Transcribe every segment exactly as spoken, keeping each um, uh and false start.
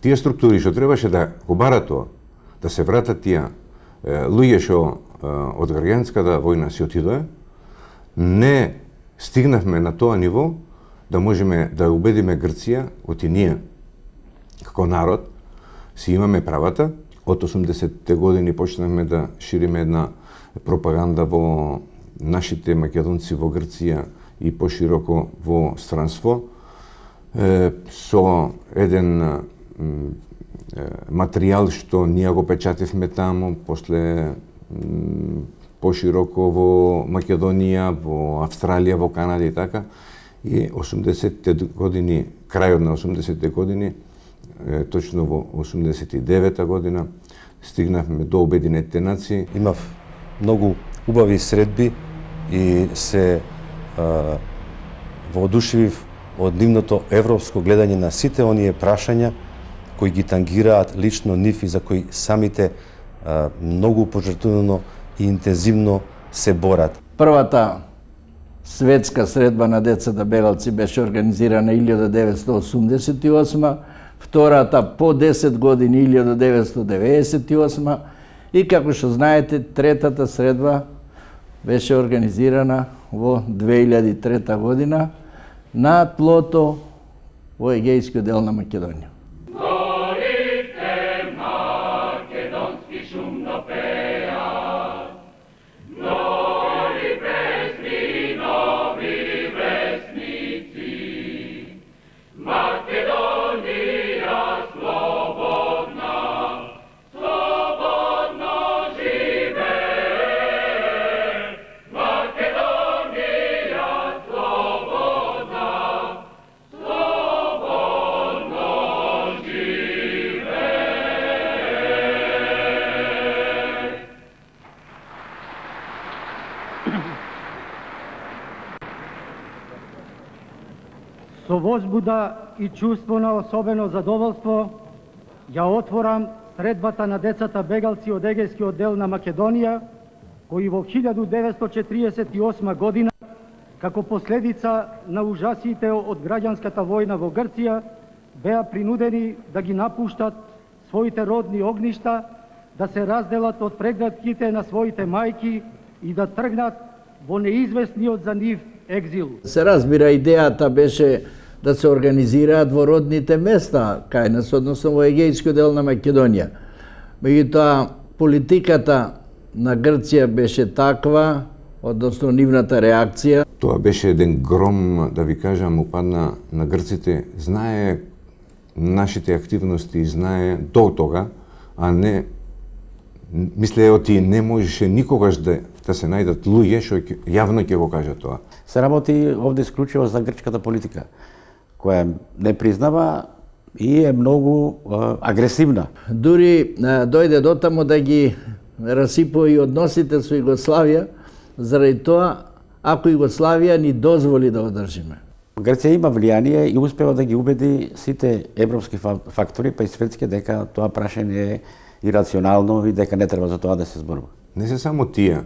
тие структури што требаше да го барат тоа, да се вратат тие луѓе што од граѓанската војна си отидоа, не стигнавме на тоа ниво да можеме да убедиме Грција, оти ние, како народ, си имаме правата. Од осумдесетте години почнавме да шириме една пропаганда во нашите македонци во Грција и пошироко во странство, со еден материјал што ние го печативме таму, после пошироко во Македонија, во Австралија, во Канада и така. И осумдесетте години, крајот на осумдесетте години, точно во осумдесет и девета година, стигнавме до Обединетите нации. Имав многу убави средби и се а, воодушевив од нивното европско гледање на сите оние прашања кои ги тангираат лично нив и за кои самите а, многу пожртвувано и интензивно се борат. Првата светска средба на децата бегалци беше организирана илјада деветстотини осумдесет и осма, втората по десет години илјада деветстотини деветдесет и осма и како што знаете третата средба беше организирана во две илјади и трета година на тлото во егејскиот дел на Македонија. Со возбуда и чувство на особено задоволство ја отворам средбата на децата бегалци од егејскиот дел на Македонија, кои во илјада деветстотини четиридесет и осма година, како последица на ужасите од граѓанската војна во Грција, беа принудени да ги напуштат своите родни огништа, да се разделат од прегратките на своите мајки и да тргнат во неизвестниот за нив екзил. Се разбира, идејата беше да се организираат во родните места кај нас, односно во егејскиот дел на Македонија. Меѓутоа, политиката на Грција беше таква, односно нивната реакција. Тоа беше еден гром, да ви кажам, упадна на грците. Знае нашите активности, знае до тога, а не мисле оти не можеше никогаш да да се најдат луѓе што јавно ќе го кажат тоа. Се работи овде исклучиво за грчката политика, која не признава и е многу а, агресивна. Дури а, дојде до таму да ги расипува и односите со Југославија, заради тоа ако Југославија ни дозволи да одржиме. Грција има влијание и успева да ги убеди сите европски фактори, па и светски, дека тоа прашање е ирационално и дека не треба за тоа да се зборува. Не се само тие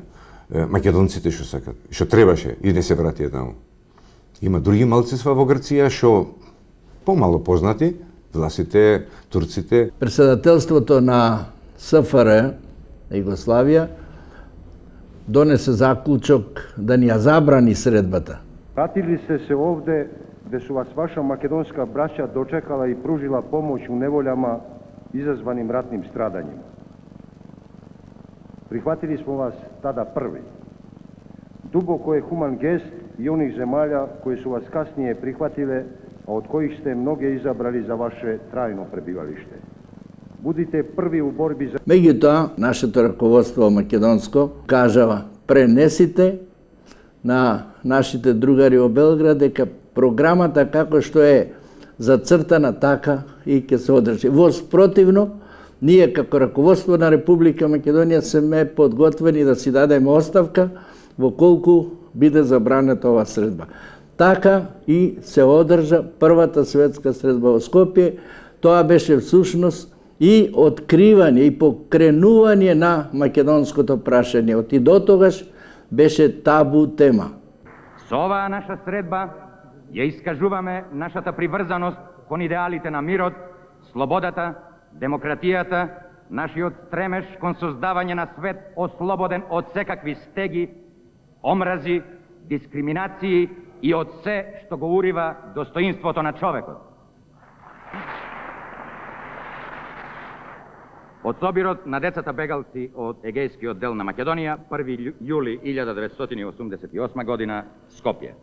македонците што сакат, што требаше и не се вратија таму. Има други малцинства во Грција што помало познати, власите, турците. Председателството на СФР, Југославија, донесе заклучок да ни ја забрани средбата. Вратили се се овде, де су вас ваша македонска браќа дочекала и пружила помош у неволјама изазваним ратним страдањима. Прихватили смо вас тада први. Дубоко е хуман гест и оних земјалја кои су вас каснije прихватиле, а од коих сте многе изабрали за ваше трајно пребивалиште. Будите први у борби за... Меѓутоа, нашето раководство македонско кажава, пренесите на нашите другари во Белград дека програмата како што е зацртана така и ќе се одржи. Во спротивно, ние како раководство на Република Македонија сме подготвени да си дадеме оставка во колку биде забранета ова средба. Така и се одржа првата светска средба во Скопје. Тоа беше всушност и откривање и покренување на македонското прашање. Од и до тогаш беше табу тема. Со оваа наша средба ја искажуваме нашата приврзаност кон идеалите на мирот, слободата, демократијата, нашиот стремеж кон создавање на свет ослободен од секакви стеги, омрази, дискриминации и од се што го урива достоинството на човекот. Од собирот на децата бегалци од Егејскиот дел на Македонија, први јули илјада деветстотини и осумдесет и осма година, Скопје.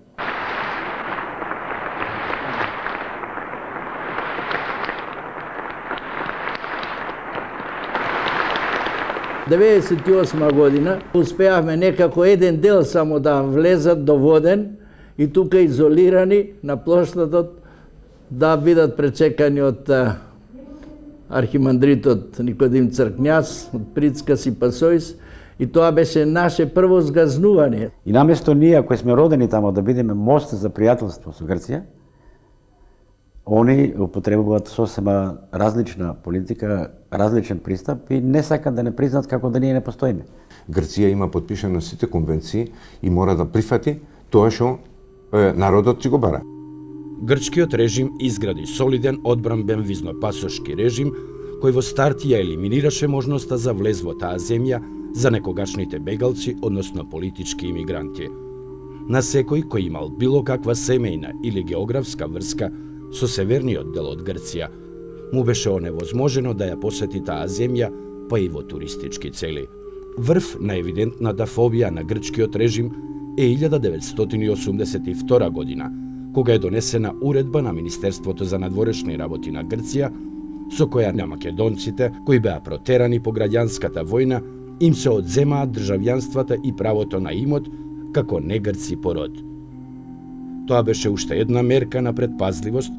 деветдесет и осма година успеавме некако еден дел само да влезат до Воден и тука изолирани на плоштадот да бидат пречекани од архимандритот Никодим Цркњас, од Прицкас и Пасојс, и тоа беше наше прво згазнување. И наместо ние, кои сме родени тамо, да бидеме мост за пријателство со Грција, они употребуваат сосема различна политика, различен пристап и не сакат да не признаат како да ние не постоиме. Грција има подпишано сите конвенции и мора да прифати тоа што е, народот си го бара. Грчкиот режим изгради солиден одбранбен визнопасошки режим кој во старт ја елиминираше можноста за влез во таа земја за некогашните бегалци, односно политички имигранти. На секој кој имал било каква семејна или географска врска со северниот дел од Грција, му беше оневозможено да ја посети таа земја, па и во туристички цели. Врв на евидентната фобија на грчкиот режим е илјада деветстотини и осумдесет и втора година, кога е донесена уредба на Министерството за надворешни работи на Грција, со која на македонците, кои беа протерани по граѓанската војна, им се одземаат државјанствата и правото на имот како негрци по род. Тоа беше уште една мерка на предпазливост,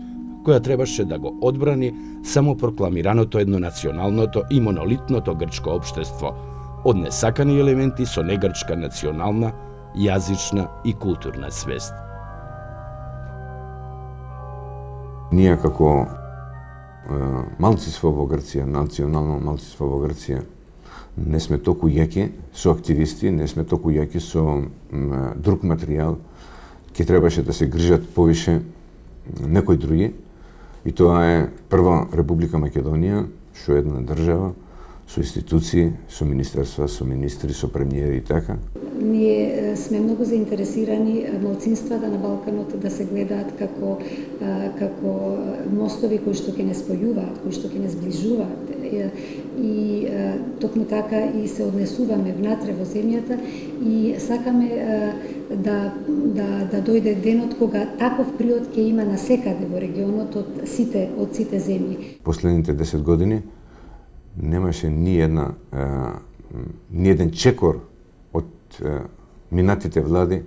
која требаше да го одбрани само прокламираното еднонационалното и монолитното грчко општество од несакани елементи со негрчка национална, јазична и културна свест. Ние како е, малцинство во Грција, национално малцинство во Грција, не сме толку јаки со активисти, не сме толку јаки со м, друг материјал, ќе требаше да се грижат повише некои други, и тоа е прва Република Македонија, што е една држава, со институции, со министерства, со министри, со премиери и така. Ние сме многу заинтересирани малцинствата на Балканот да се гледаат како како мостови кои што ќе не спојуваат, кои што ќе не сближуваат. И токму така и се однесуваме внатре во земјата и сакаме да да да дојде денот кога таков приод ќе има насекаде во регионот од сите од сите земји. Последните десет години немаше ни една ни еден чекор од минатите влади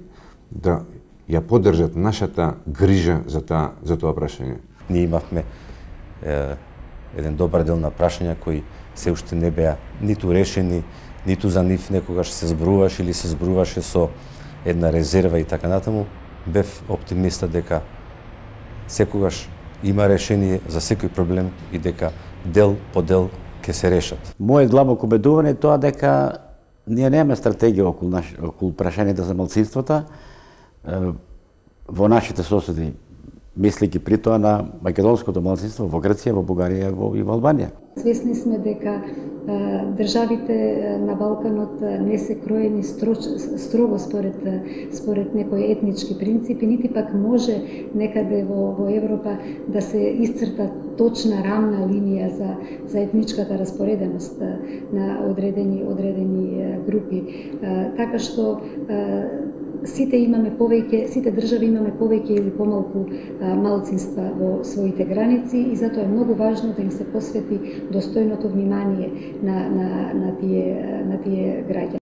да ја поддржат нашата грижа за таа за тоа прашање. Ние имавме е, еден добар дел на прашања кои се уште не беа ниту решени, ниту за нив некогаш се зборуваше или се зборуваше со една резерва и така натаму. Бев оптимиста дека секогаш има решение за секој проблем и дека дел по дел ќе се решат. Мојот длабоко убедување е тоа дека ние немаме стратегија околу, наш, околу прашањата за малцинствата во нашите соседи, мислики при тоа на македонското малцинство во Грција, во Бугарија и во Албанија. Свесни сме дека државите на Балканот не се кроени строго според според некои етнички принципи, нити пак може некаде во, во Европа да се исцрта точна рамна линија за за етничката распореденост на одредени одредени групи. Така што сите имаме повеќе, сите држави имаме повеќе или помалку малцинства во своите граници и затоа е многу важно да им се посвети достојното внимание на на на тие на тие граѓани.